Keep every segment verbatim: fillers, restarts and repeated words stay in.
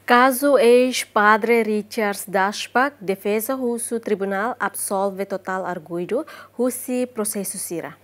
Kazu eis-padre Richard Dasbach, defeza husu tribunál absolve totál arguidu husi prosesu sira.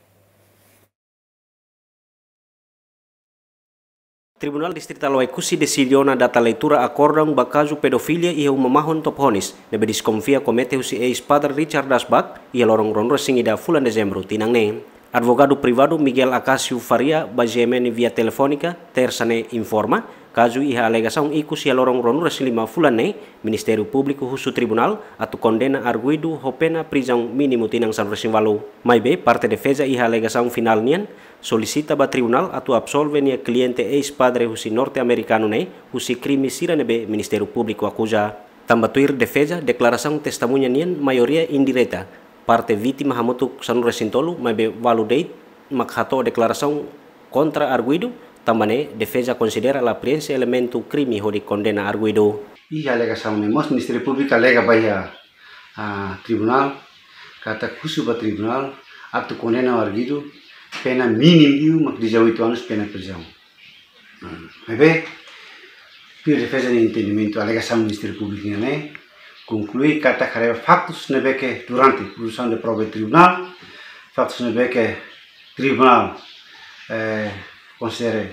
Tribunál Distritál Oekusi desidiona data leitura akordaun ba kazu pedofilia iha uma mahon Topohonis, ne'ebé deskonfia komete husi eis-padre Richard Dasbach iha loron ruanulu-resin-ida fulan Dezembru tinan ne'e. Advogadu privadu Miguel Acácio Faria ba G M N via telefónika, tersa ne'e informa, kazu iha alegasaun ikus iha loron ruanulu-resin-lima fulan ne'e, Ministériu Públiku husu tribunál atu kondena arguidu ho pena prizaun mínimu tinan sanulu-resin-ualu. Maibé, parte defeza iha alegasaun finál nian solisita ba tribunál atu absolve nia kliente eis-padre husi norte-amerikanu ne'e husi krime sira ne'ebé Ministériu Públiku akuza. Tanba tuir defeza, deklarasaun testemuña nian maioria indireta. Parte vítima hamutuk sanulu-resin-tolu, maibé ualu de'it mak hato'o deklarasaun kontra arguidu, tanba ne'e defeza konsidera la preenxe elementu krime hodi kondena arguidu. Iha alegasaun ne'e mós Ministériu Públiku alega ba iha, ah, tribunál, katak husu ba tribunál atu kondena arguidu, pena mínimu liu mak dezoitu anus pena prizaun. Hmm. Maibé, tuir defeza nia entendimentu, alegasaun Ministériu Públiku nian ne'e konklui katak haree ba faktus ne'ebé ke durante produsaun de prova iha tribunál, faktus ne'ebé ke tribunál, eh, konsidera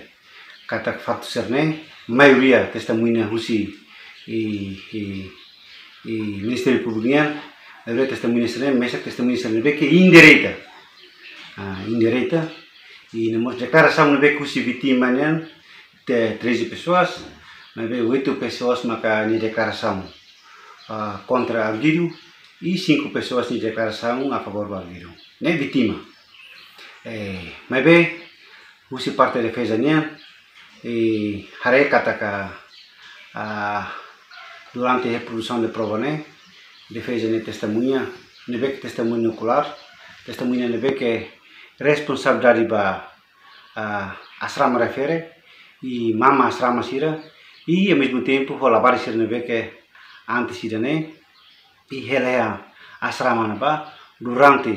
katak faktus sira-ne'e, maioria testemuña husi, i, i, i Ministériu Públiku nian, maioria testemuña sira-ne'e, mesak testemuña sira ne'ebé ke indireta. Ah, indireta, i no mós deklarasaun ne'ebé ke husi vítima nian, te treze pessoas, maibé oito pessoas maka nia deklarasaun, ah, kontra arguidu, i cinco pessoas nia deklarasaun a favór ba arguidu. Ne'e vítima. Eh, maibé, husi parte defeza nian, i haree katak, ah, durante iha produsaun de prova ne'e, defeza nia testemuña, ne'ebé ke testemuña okulár, testemuña ne'ebé ke responsabilidade ba, ah, asrama refere, i mama asrama sira, i ao mesmo tempo, ho labarik sira ne'ebé ke antes ida-ne'e, i hela iha asrama ne'ebá durante,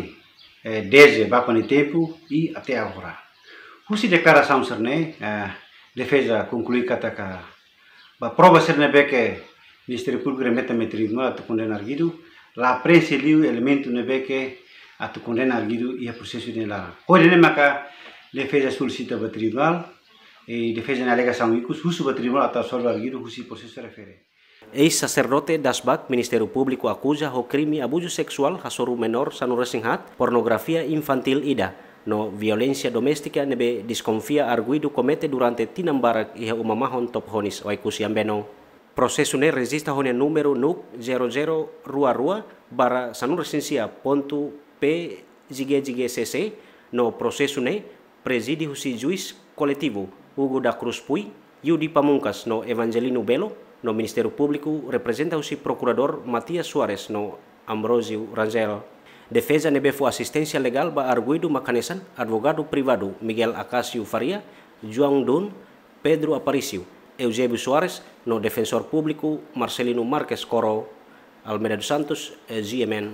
eh, dezde bapa nia tempu i até agora. Husi deklarasaun sira-ne'e, eh, defeza konklui katak ba prova sira ne'ebé ke Ministériu Públiku remete mai tribunál atu kondena arguidu, la preenxe liu elementu ne'ebé ke atu kondena arguidu iha prosesu ida-ne'e laran. Hodi nune'e maka defeza solisita ba tribunál, i defeza nia alegasaun ikus, husu ba tribunál atu absolve arguidu husi prosesu refere. Eis-saserdote Dasbach, Ministériu Públiku akuza ho krime abuzu seksuál hasoru menór sanulu-resin-haat, pornografia infantíl ida, no violénsia doméstika ne'ebé deskonfia arguidu komete durante tinan barak iha uma mahon Topohonis, Oekusi Ambeno. Prosesu ne'e rejista ho nia númeru NUC zero zero rua rua barra sanulu-resin-sia pontu P J G J G C C, no prosesu ne'e prezide husi juís koletivu Hugo da Cruz Pui, Yudi Pamungkas no Evangelino Belo, no Ministériu Públiku reprezenta husi prokuradór Matias Soares no Ambrósio Rangel. Defeza ne'ebé fó asisténsia legál ba arguidu mak hanesan advogadu privadu Miguel Acácio Faria, João Dun, Pedro Aparício, Eusébio Soares no Defensór Públiku Marcelino Marques Coro. Almeida dos Santos, eh, G M N.